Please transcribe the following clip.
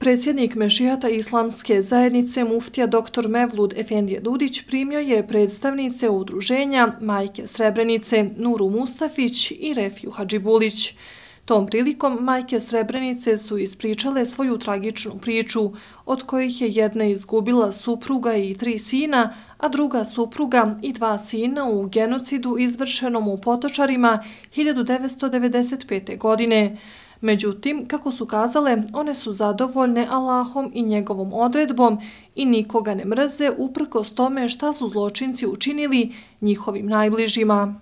Predsjednik Mešihata Islamske zajednice muftija dr. Mevlud Efendija Dudić primio je predstavnice udruženja Majke Srebrenice Nuru Mustafić i Refiju Hadžibulić. Tom prilikom majke Srebrenice su ispričale svoju tragičnu priču, od kojih je jedna izgubila supruga i 3 sina, a druga supruga i 2 sina u genocidu izvršenom u Potočarima 1995. godine. Međutim, kako su kazale, one su zadovoljne Allahom i njegovom odredbom i nikoga ne mrze uprkos tome šta su zločinci učinili njihovim najbližima.